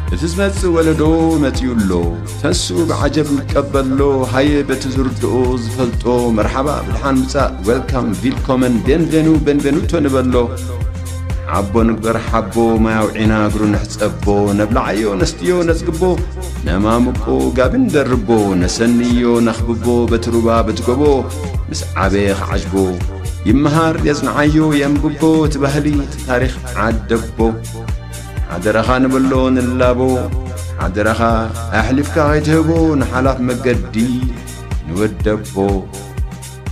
እቲ ዝመጽእ ወለዶ መጺኡ ኣሎ። ተንስኡ ብዓጀብ ንቀበሎ። ሃየ በቲ ዝርድኦ ዝፈልጦ መርሓባ ብድሓን ምጻእ፣ ዌልካም፣ ቪልኮመን፣ ቤንቬኑ፣ ቤንቬኑቶ ንበሎ። ሓቦ ንግበር ሓቦ፣ ማይ ኣውዒና እግሩ ንሕጸቦ። ነብልዓዮ ነስትዮ ነጽግቦ፣ ነማምቆ ጋቢ ንደርቦ። ነሰንዮ ነኽብቦ በቲ ሩባ በቲ ጎቦ። ምስ ዓበየ ክዓጅቦ ይመሃር የጽንዓዮ የንብቦ። እቲ ባህሊ እቲ ታሪኽ ዓደቦ። ሓደራኻ ንበሎ ንላቦ። ሓደራኻ ኣሕሊፍካ ከይትህቦ ንሓላፍ መገዲ ንወደቦ።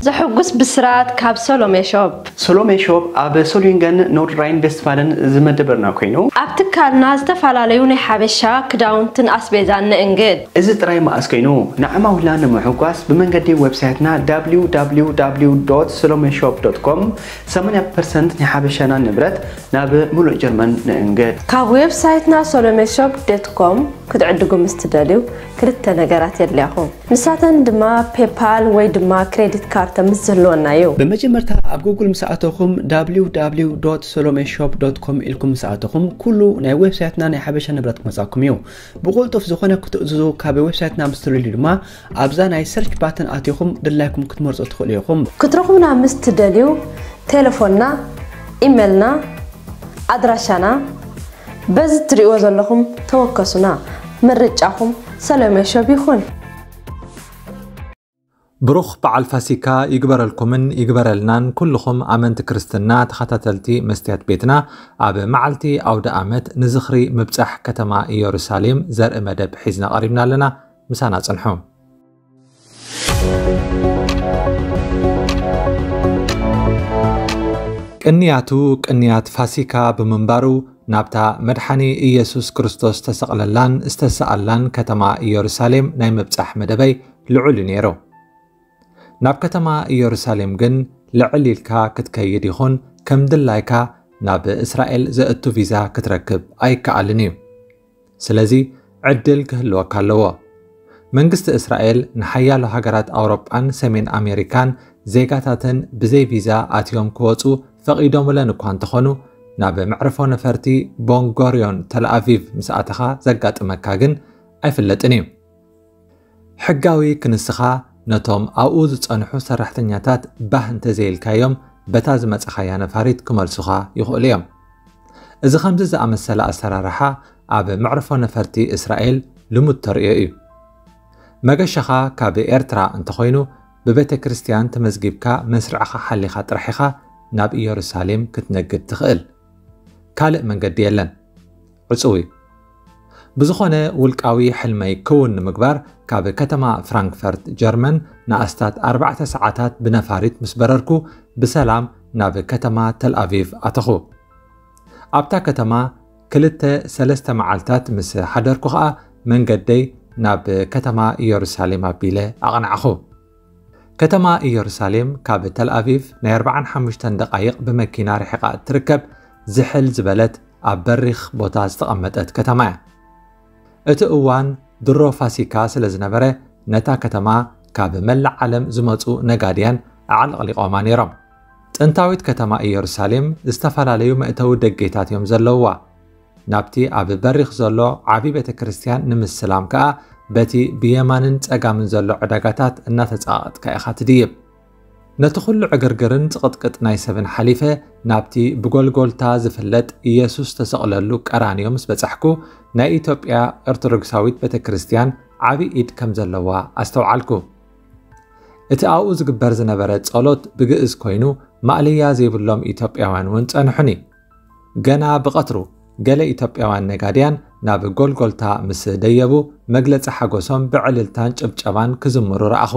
ዘሕጉስ ብስራት ካብ ሰሎሜ ሾፕ። ሰሎሜ ሾፕ ኣብ ሶሊንገን ኖርድ ራይን ቬስትፋለን ዝመደበርና ኮይኑ፣ ኣብ ትካልና ዝተፈላለዩ ናይ ሓበሻ ክዳውንትን ኣስቤዛን ንእንግድ። እዚ ጥራይ መኣስ ኮይኑ፣ ንዓማዊልና ንምሕጓስ ብመንገዲ ዌብሳይትና www.solomeshop.com ሰማንያ ፐርሰንት ናይ ሓበሻና ንብረት ናብ ሙሉእ ጀርመን ንእንግድ። ካብ ዌብሳይትና solomeshop.com ክትዕድጉ ምስ ትደልዩ ክልተ ነገራት የድልያኹም። ንሳተን ድማ ፔፓል ወይ ድማ ክሬዲት ካርድ ምስ ዝህልወና እዩ። ብመጀመርታ ኣብ ጉግል ምስ ኣተኹም www.solomeshop.com ኢልኩም ምስ ኣተኹም ኩሉ ናይ ዌብሳይትና ናይ ሓበሻ ንብረት ክመጻኩም እዩ። ብቁልጡፍ ዝኾነ ክትእዝዙ ካብ ዌብሳይትና ምስ ትልልዩ ድማ ኣብዛ ናይ ሰርች ባተን ኣቲኹም ድላይኩም ክትመርጹ ትኽእሉ ኢኹም። ክትረኹብና ምስ ትደልዩ ቴሌፎንና፣ ኢሜልና፣ ኣድራሻና በዚ ትሪእዎ ዘለኹም ተወከሱና። ምርጫኹም ሰሎሜ ሾፕ ይኹን። ብሩኽ በዓል ፋሲካ ይግበረልኩምን ይግበረልናን ኩልኹም ኣመንቲ ክርስትና ተኸታተልቲ መስትያት ቤትና። ኣብ መዓልቲ ኣውደ ኣመት ንዝኽሪ ምብጻሕ ከተማ ኢየሩሳሌም ዘርኢ መደብ ሒዝና ቀሪብና ኣለና። ምሳና ጽንሑ። ቅንያቱ ቅንያት ፋሲካ ብምንባሩ ናብታ መድሓኒ ኢየሱስ ክርስቶስ ዝተሰቕለላን ዝተሰኣላን ከተማ ኢየሩሳሌም ናይ ምብጻሕ መደበይ ልዑል እዩ ነይሩ። ናብ ከተማ ኢየሩሳሌም ግን ልዕል ኢልካ ክትከይድ ይኹን ከም ድላይካ ናብ እስራኤል ዘእቱ ቪዛ ክትረክብ ኣይከኣልን እዩ። ስለዚ ዕድል ክህልወካ ኣለዎ። መንግስቲ እስራኤል ንሓያሎ ሃገራት ኣውሮጳን ሰሜን ኣሜሪካን ዜጋታተን ብዘይ ቪዛ ኣትዮም ክወጹ ፈቒዶምለን እኳ እንተኾኑ፣ ናብ መዕርፎ ነፈርቲ ቦንጎርዮን ተልኣቪቭ ምስ ኣተኻ ዘጋጥመካ ግን ኣይፍለጥን እዩ። ሕጋዊ ክንስኻ ነቶም ኣብኡ ዝጸንሑ ሰራሕተኛታት ባህ እንተዘይልካዮም በታ ዝመጻኻያ ነፋሪት ክመልሱኻ ይኽእሉ እዮም። እዚ ከምዚ ዝኣመሰለ ኣሰራርሓ ኣብ መዕርፎ ነፈርቲ እስራኤል ልሙድ ተርእዮ እዩ። መገሻኻ ካብ ኤርትራ እንተኾይኑ ብቤተ ክርስቲያን ተመዝጊብካ መስርዕኻ ሓሊኻ ጥራሕ ኢኻ ናብ ኢየሩሳሌም ክትነግድ ትኽእል። ካልእ መንገዲ የለን። ዕጹው እዩ። ብዝኾነ ውልቃዊ ሕልመይ ክውን ንምግባር ካብ ከተማ ፍራንክፈርት ጀርመን ንኣስታት ኣርባዕተ ሰዓታት ብነፋሪት ምስ በረርኩ ብሰላም ናብ ከተማ ተልኣቪቭ ኣተኹ። ኣብታ ከተማ ክልተ ሰለስተ መዓልታት ምስ ሓደርኩ ኸኣ መንገደይ ናብ ከተማ ኢየሩሳሌም ኣቢለ ኣቕናዕኹ። ከተማ ኢየሩሳሌም ካብ ተልኣቪቭ ናይ ኣርባዓን ሓሙሽተን ደቓይቕ ብመኪና ርሒቓ እትርከብ ዝሕል ዝበለት ኣብ በሪኽ ቦታ ዝተቐመጠት ከተማ እያ። እቲ እዋን ድሮ ፋሲካ ስለ ዝነበረ ነታ ከተማ ካብ መላእ ዓለም ዝመጹ ነጋድያን ኣዕለቕሊቖማ ነይሮም። ጥንታዊት ከተማ ኢየሩሳሌም ዝተፈላለዩ መእተዊ ደጌታት እዮም ዘለውዋ። ናብቲ ኣብ በሪኽ ዘሎ ዓቢ ቤተ ክርስቲያን ንምስላም ከኣ በቲ ብየማንን ጸጋምን ዘሎ ዕዳጋታት እናተጻቐጥካ ኢኻ ትድይብ። ነቲ ኩሉ ዕግርግርን ጽቕጥቅጥ ናይ ሰብን ሓሊፈ ናብቲ ብጎልጎልታ ዝፍለጥ ኢየሱስ ተሰቕለሉ ቀራንዮ ምስ በጻሕኩ ናይ ኢትዮጵያ ኦርቶዶክሳዊት ቤተ ክርስቲያን ዓቢ ኢድ ከም ዘለዋ ኣስተውዓልኩ። እቲ ኣብኡ ዝግበር ዝነበረ ጸሎት ብግእዝ ኮይኑ ማእለያ ዘይብሎም ኢትዮጵያውያን እውን ጸንሑኒ። ገና ብቐትሩ ገለ ኢትዮጵያውያን ነጋድያን ናብ ጎልጎልታ ምስ ደየቡ መግለጺ ሓጎሶም ብዕልልታን ጭብጨባን ክዝምሩ ረኣኹ።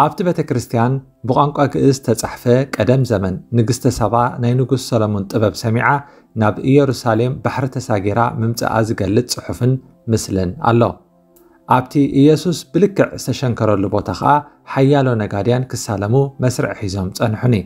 ኣብቲ ቤተ ክርስቲያን ብቋንቋ ግእዝ ተጻሕፈ ቀደም ዘመን ንግስተ ሳባ ናይ ንጉስ ሰሎሞን ጥበብ ሰሚዓ ናብ ኢየሩሳሌም ባሕሪ ተሳጊራ ምምጻኣ ዝገልጽ ጽሑፍን ምስልን ኣሎ። ኣብቲ ኢየሱስ ብልክዕ ዝተሸንከረሉ ቦታ ኸኣ ሓያሎ ነጋድያን ክሳለሙ መስርዕ ሒዞም ጸንሑኒ።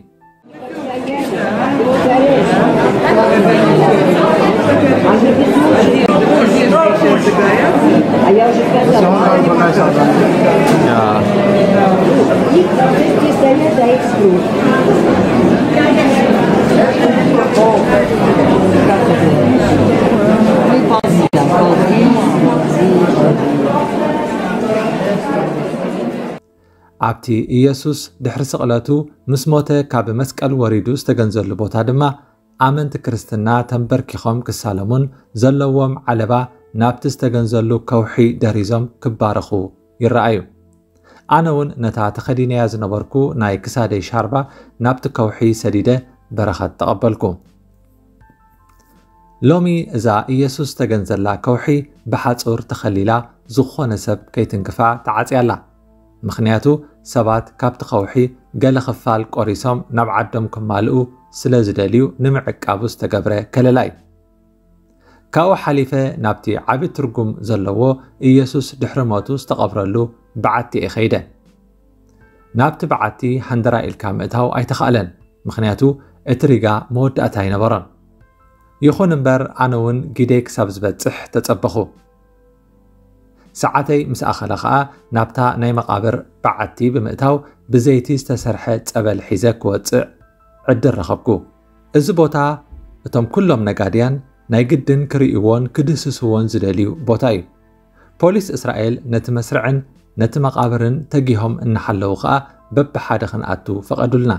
ኣብቲ ኢየሱስ ድሕሪ ስቕለቱ ምስ ሞተ ካብ መስቀል ወሪዱ ዝተገንዘሉ ቦታ ድማ ኣመንቲ ክርስትና ተንበርኪኾም ክሳለሙን ዘለዎም ዓለባ ናብቲ ዝተገንዘሉ ከውሒ ደሪዞም ክባረኹ ይረኣዩ። ኣነ እውን ነታ ተኸዲነያ ዝነበርኩ ናይ ክሳደይ ሻርባ ናብቲ ከውሒ ሰዲደ በረኸት ተቐበልኩ። ሎሚ እዛ ኢየሱስ ዝተገንዘላ ከውሒ ብሓጹር ተኸሊላ ዝኾነ ሰብ ከይትንክፋ ተዓጽያ ኣላ። ምኽንያቱ ሰባት ካብቲ ከውሒ ገለ ክፋል ቆሪሶም ናብ ዓዶም ክማልኡ ስለ ዝደልዩ ንምዕቃቡ ዝተገብረ ከለላ እዩ። ካብኡ ሓሊፈ ናብቲ ዓቢ ትርጉም ዘለዎ ኢየሱስ ድሕሪ ሞቱ ዝተቐብረሉ በዓቲ እየ ኸይደ። ናብቲ በዓቲ ሃንደራ ኢልካ ምእታው ኣይተኻእለን፣ ምኽንያቱ እቲ ሪጋ መወዳእታ ኣይነበሮን። ይኹን እምበር ኣነ እውን ጊደይ ክሳብ ዝበጽሕ ተጸበኹ። ሰዓተይ ምስ ኣኸለ ኸኣ ናብታ ናይ መቓብር በዓቲ ብምእታው ብዘይቲ ዝተሰርሐ ጸበል ሒዘ ክወጽእ ዕድል ረኸብኩ። እዚ ቦታ እቶም ኩሎም ነጋድያን ናይ ግድን ክርእይዎን ክድህስስዎን ዝደልዩ ቦታ እዩ። ፖሊስ እስራኤል ነቲ መስርዕን ነቲ መቓብርን ተጊሆም እናሓለዉ ኸኣ በብሓደ ክንኣቱ ፈቐዱልና።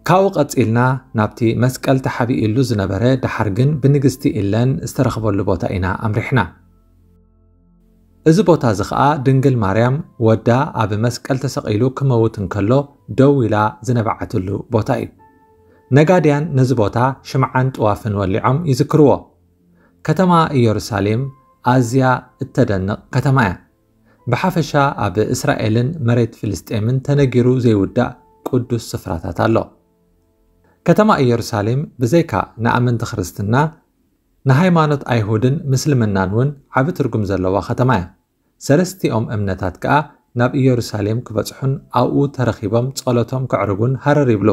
ካብኡ ቀጺልና ናብቲ መስቀል ተሓቢእሉ ዝነበረ፣ ደሓር ግን ብንግስቲ ኢለን ዝተረኽበሉ ቦታ ኢና ኣምሪሕና። እዚ ቦታ እዚ ኸኣ ድንግል ማርያም ወዳ ኣብ መስቀል ተሰቒሉ ክመውት እንከሎ ደው ኢላ ዝነብዓትሉ ቦታ እዩ። ነጋድያን ነዚ ቦታ ሽምዓን ጥዋፍን ወሊዖም ይዝክርዎ። ከተማ ኢየሩሳሌም ኣዝያ እተደንቕ ከተማ እያ። ብሓፈሻ ኣብ እስራኤልን መሬት ፍልስጤምን ተነጊሩ ዘይውዳእ ቅዱስ ስፍራታት ኣሎ። ከተማ ኢየሩሳሌም ብዘይካ ንኣመንቲ ክርስትና፣ ንሃይማኖት ኣይሁድን ምስልምናን እውን ዓቢ ትርጉም ዘለዋ ከተማ እያ። ሰለስቲኦም እምነታት ከኣ ናብ ኢየሩሳሌም ክበጽሑን ኣብኡ ተረኺቦም ጸሎቶም ከዕርጉን ሃረር ይብሉ።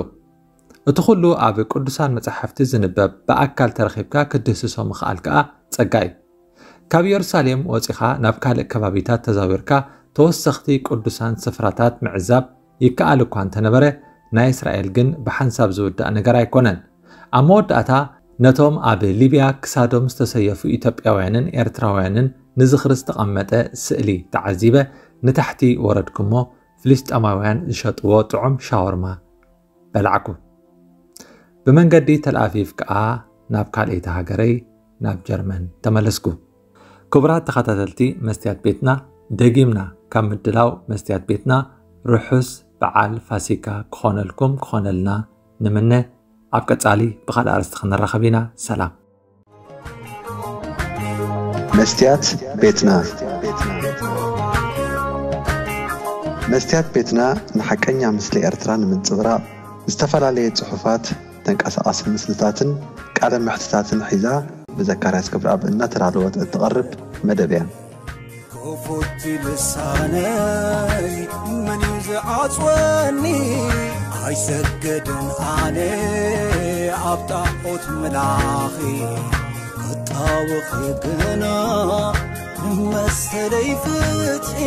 እቲ ኩሉ ኣብ ቅዱሳን መጻሕፍቲ ዝንበብ ብኣካል ተረኺብካ ክትድህስሶ ምኽኣል ከኣ ጸጋ እዩ። ካብ ኢየሩሳሌም ወጺኻ ናብ ካልእ ከባቢታት ተዛዊርካ ተወሰኽቲ ቅዱሳን ስፍራታት ምዕዛብ ይከኣል እኳ እንተነበረ፣ ናይ እስራኤል ግን ብሓንሳብ ዝውዳእ ነገር ኣይኮነን። ኣብ መወዳእታ ነቶም ኣብ ሊብያ ክሳዶም ዝተሰየፉ ኢትዮጵያውያንን ኤርትራውያንን ንዝኽሪ ዝተቐመጠ ስእሊ ተዓዚበ ንታሕቲ ወረድኩ እሞ ፍልስጤማውያን ዝሸጥዎ ጥዑም ሻወርማ በላዕኩ። ብመንገዲ ተልኣቪቭ ከኣ ናብ ካልኣይቲ ሃገረይ ናብ ጀርመን ተመለስኩ። ክቡራት ተኸታተልቲ መስትያት ቤትና፣ ደጊምና ካብ ምድላው መስትያት ቤትና ርሑስ በዓል ፋሲካ ክኾነልኩም ክኾነልና ንምነ። ኣብ ቀጻሊ ብኻልእ ኣርእስቲ ክንራኸብ ኢና። ሰላም። መስትያት ቤትና። መስትያት ቤትና ንሓቀኛ ምስሊ ኤርትራ ንምንጽብራቕ ዝተፈላለየ ጽሑፋት፣ ተንቀሳቓሲ ምስልታትን ቃለ መሕትታትን ሒዛ ብዘካርያስ ክብረኣብ እናተዳለወት እትቐርብ መደብ እያ። ክፉት ልሳነይ መን እዩ ዝዓጽወኒ? ኣይሰግድን ኣነ ኣብ ጣዖት ምላኺ ክጣወኺ ግና መሰለይ ፍትሒ